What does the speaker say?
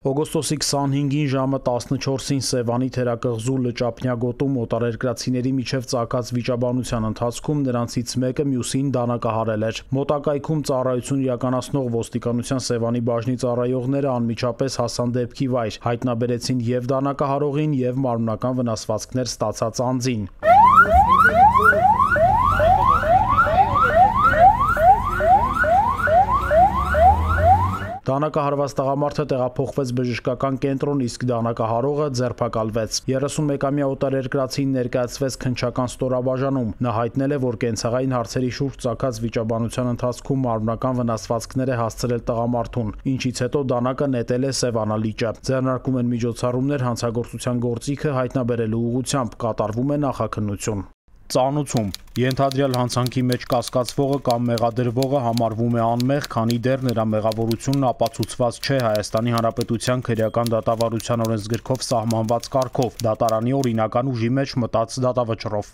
Օգոստոսի 25-ին ժամը 14-ին Սևանի թերակղզու Լճափնյա գոտում օտարերկրացիների միջև ծագած վիճաբանության ընթացքում նրանցից մեկը մյուսին դանակահարել էր։ Մոտակայքում ծառայություն իրականացնող ոստիկանության Սևանի բաժնի ծառայողները անմիջապես հասան դեպքի վայր, հայտնաբերեցին և դանակահարողին, և մարմնական վնասվածքներ ստացած անձին։ Դանակահարված տղամարդը տեղափոխվեց բժշկական կենտրոն, իսկ դանակահարողը ձերբակալվեց։ 31-ամյա օտարերկրացին ներկայացվեց քննչական ստորաբաժանում։ Նա հայտնել է, որ կենցաղային հարցերի շուրջ ծագած վիճաբանության ընթացքում մարմնական վնասվածքներ է հասցրել տղամարդուն, ինչից հետո դանակը նետել է Սևանա լիճը։ Ձեռնարկում են միջոցառումներ հանցագործության գործիքը հայտնաբերելու ուղղությամբ, կատարվում է նախաքննություն։ Ծանուցում ենթադրյալ հանցանքի մեջ կասկածվողը կամ մեղադրվողը համարվում է անմեղ, քանի դեռ նրա մեղավորությունն ապացուցված չէ Հայաստանի Հանրապետության քրեական դատավարության օրենսգրքով սահմանված կարգով, դատարանի օրինական ուժի մեջ մտած դատավճռով։